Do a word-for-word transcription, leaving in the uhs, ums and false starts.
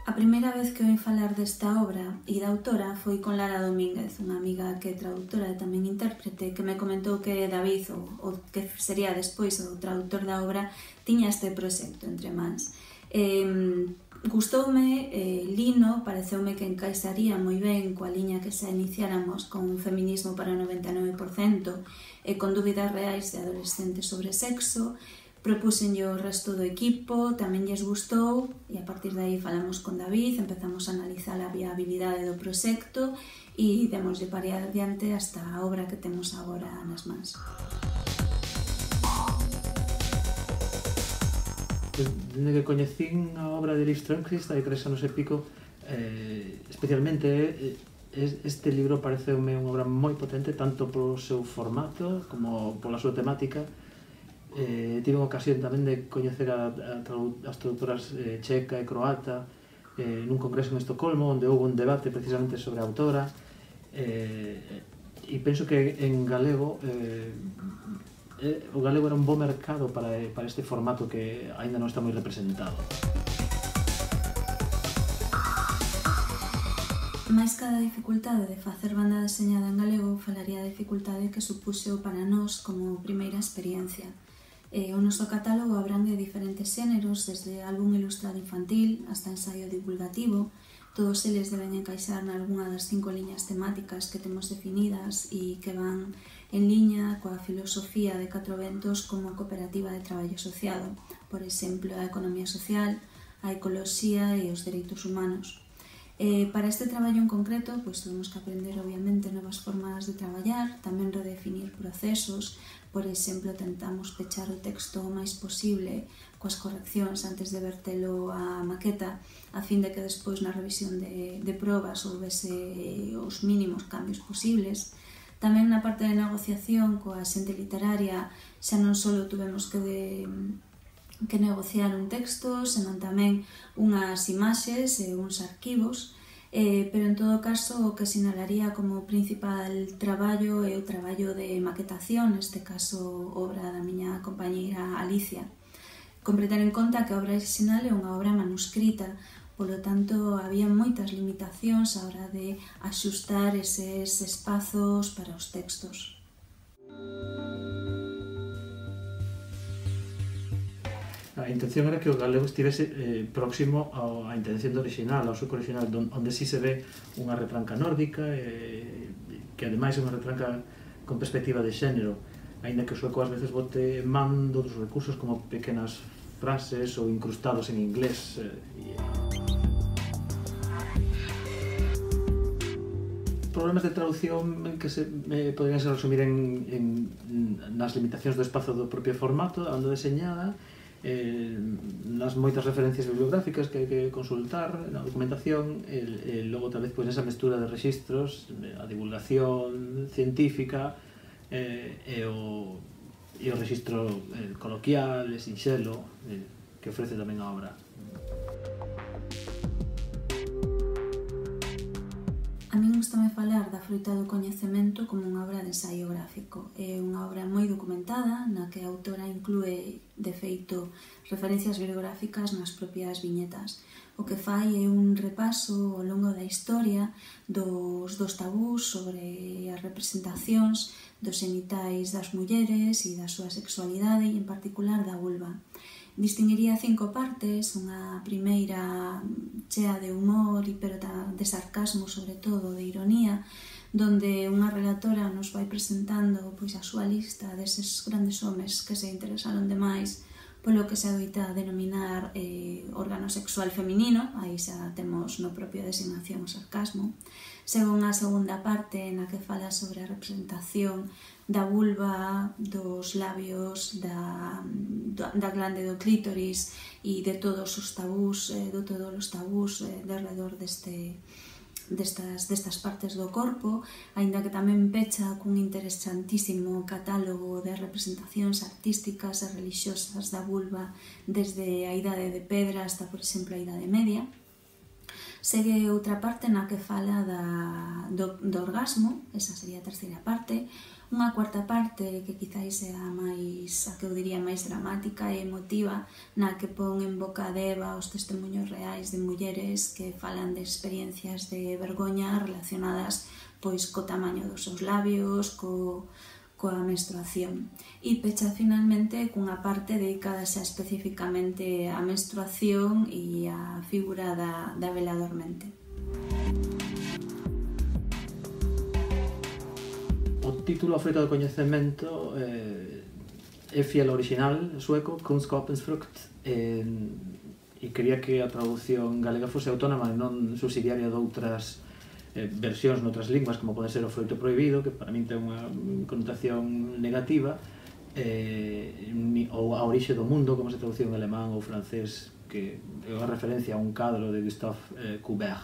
A primeira vez que oín falar desta obra e da autora foi con Lara Domínguez, unha amiga que é traductora e tamén intérprete, que me comentou que David, o, o que sería despois o traductor da obra, tiña este proxecto entre mans. Eh, gustoume, eh, lino, pareceume que encaixaría moi ben coa liña que xa iniciáramos con un feminismo para o noventa e nove por cento e con dúbidas reais de adolescentes sobre sexo. Propúxenlle o resto do equipo, tamén lles gustou e a partir de aí falamos con David, empezamos a analizar a viabilidade do proxecto e demoslle para adiante hasta a obra que temos agora nas mans. Dende que coñecín a obra de Liv Strömquist hai tres anos e pico, eh, especialmente eh, este libro pareceume unha obra moi potente tanto polo seu formato como pola súa temática. Eh, tive unha ocasión tamén de coñecer a, a tradu as traductoras eh, checa e croata eh, nun congreso en Estocolmo onde houve un debate precisamente sobre a autora eh, e penso que en galego eh, eh, o galego era un bo mercado para, para este formato que aínda non está moi representado. Mais cada dificultade de facer banda deseñada en galego falaría da dificultade que supuxo para nós como primeira experiencia. Eh, o noso catálogo abrangue diferentes xéneros, desde álbum ilustrado infantil hasta ensaio divulgativo. Todos eles deben encaixar nalgúna das cinco liñas temáticas que temos definidas e que van en liña coa filosofía de Catro Ventos como cooperativa de traballo asociado, por exemplo, a economía social, a ecoloxía e os dereitos humanos. Eh, para este traballo en concreto, pois, temos que aprender, obviamente, novas formas de traballar, tamén redefinir procesos. Por exemplo, tentamos pechar o texto o máis posible coas correccións antes de vertelo á maqueta, a fin de que despois na revisión de, de probas houvese os mínimos cambios posibles. Tamén na parte de negociación coa xente literaria xa non só tuvemos que de, que negociar un texto, senón tamén unhas imaxes e uns arquivos, eh, pero en todo caso o que sinalaría como principal traballo é o traballo de maquetación, neste caso obra da miña compañeira Alicia. Compre ter en conta que a obra original é unha obra manuscrita, polo tanto había moitas limitacións á hora de axustar eses espazos para os textos. A intención era que o galego estivese eh, próximo á intención do original, ao suco original, onde si se ve unha retranca nórdica, eh, que ademais é unha retranca con perspectiva de xénero, aínda que o sueco ás veces bote man dos recursos como pequenas frases ou incrustados en inglés. Eh, problemas de traducción que se eh, podrían se resumir en, en, nas limitacións do espazo do propio formato, a onda deseñada, Eh, nas moitas referencias bibliográficas que hai que consultar na documentación e, e logo tal vez pois, esa mestura de rexistros, a divulgación científica eh, e, o, e o rexistro eh, coloquial e sinxelo eh, que ofrece tamén a obra. A min gustame falar da Froita do Coñecemento como unha obra de ensaio gráfico. É unha obra moi documentada, na que a autora inclúe, de feito, referencias bibliográficas nas propias viñetas. O que fai é un repaso ao longo da historia dos, dos tabús sobre as representacións dos xenitais das mulleres e da súa sexualidade e, en particular, da vulva. Distinguiría cinco partes, unha primeira chea de humor, pero de sarcasmo, sobre todo, de ironía, donde unha relatora nos vai presentando pois, a súa lista deses grandes homes que se interesaron demais polo que se adoita denominar eh, órgano sexual feminino, aí xa temos no propio designación o sarcasmo. Según a segunda parte, na que fala sobre a representación da vulva, dos labios, da, da glande do clítoris e de todos os tabús, eh, de todos os tabús eh, de alrededor deste, destas, destas partes do corpo, aínda que tamén pecha cun interesantísimo catálogo de representacións artísticas e religiosas da vulva desde a Idade de Pedra hasta, por exemplo, a Idade Media. Segue outra parte na que fala da, do, do orgasmo, esa sería a terceira parte, Unha cuarta parte, que quizáis é a máis, a que eu diría máis dramática e emotiva, na que pon en boca de Eva os testemunhos reais de mulleres que falan de experiencias de vergoña relacionadas pois co tamaño dos seus labios, co, coa menstruación. E pecha finalmente cunha parte dedicada xa especificamente á menstruación e á figura da, da vela dormente. O título A Froita do Coñecemento eh, é fiel ao original sueco, Kunskapens frukt, eh, e quería que a traducción galega fose autónoma e non subsidiaria de outras eh, versións noutras linguas, como pode ser o froito prohibido, que para min ten unha connotación negativa, eh, ou a orixe do mundo, como se traduciu en alemán ou francés, que é unha referencia a un cadro de Gustave eh, Courbet.